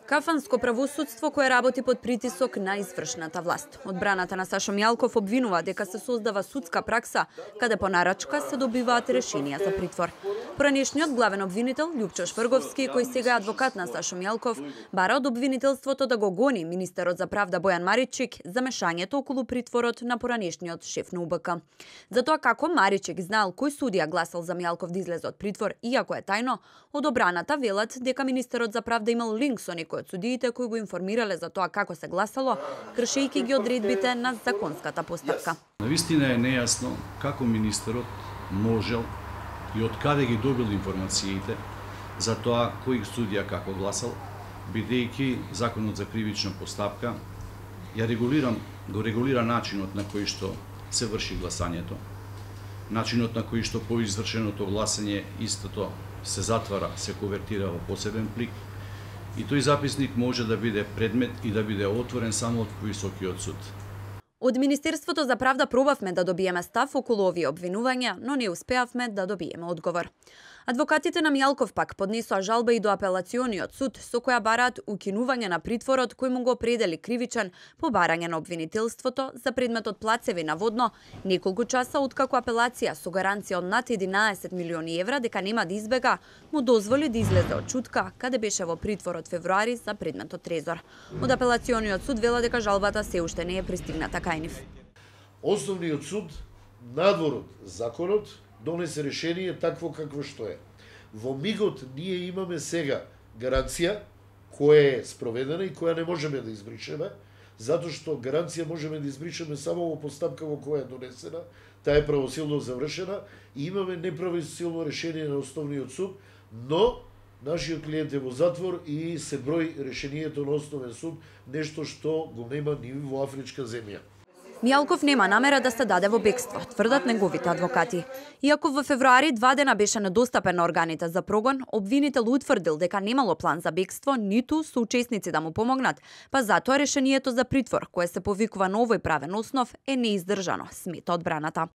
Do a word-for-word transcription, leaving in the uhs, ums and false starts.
Кафанско правосудство кое работи под притисок на извршната власт. Одбраната на Сашо Мјалков обвинува дека се создава судска пракса каде по нарачка се добиваат решенија за притвор. Поранешниот главен обвинител Љупчо Шврговски, кој сега е адвокат на Сашо Мјалков, бара од обвинителството да го гони министерот за правда Бојан Маричик за мешањето околу притворот на поранешниот шеф на У Б К. Затоа како Маричик знаел кој судија гласал за Мјалков да излезе од притвор, иако е тајно, од одбраната велат дека министерот за правда имал линк со некој од судиите кои го информирале за тоа како се гласало, кршејќи ги одредбите на законската постапка. Навистина е нејасно како министерот можел и од каде ги добил информациите за тоа кој судија како гласал, бидејќи законот за кривична постапка ја регулира, го регулира начинот на кој што се врши гласањето, начинот на кој што по извршеното гласање истото се затвара, се конвертира во посебен плик, и тој записник може да биде предмет и да биде отворен само од повисокиот суд. Од Министерството за правда пробавме да добиеме став околу овие обвинувања, но не успеавме да добиеме одговор. Адвокатите на Мјалков пак поднесоа жалба и до апелациониот суд, со која бараат укинување на притворот кој му го определи кривичен по барање на обвинителството за предметот плацеви наводно неколку часа откако апелација со гаранција од над единаесет милиони евра дека нема да избега, му дозволи да излезе од Чутка, каде беше во притвор од февруари за предметот Трезор. Од апелациониот суд вела дека жалбата се уште не е пристигната кај нив. Основниот суд, надвор од законот, донесе решение такво какво што е. Во мигот ние имаме сега гаранција која е спроведена и која не можеме да избришеме, затоа што гаранција можеме да избришеме само во постапка во која е донесена, таа е правосилно завршена и имаме неправосилно решение на основниот суд, но нашиот клиент е во затвор и се брои решението на основен суд, нешто што го нема ни во афричка земја. Мјалков нема намера да се даде во бегство, тврдат неговите адвокати. Иако во февруари два дена беше недостапен на органите за прогон, обвинител утврдил дека немало план за бегство, ниту соучесници да му помогнат, па затоа решението за притвор, кое се повикува на овој правен основ, е неиздржано, смета одбраната.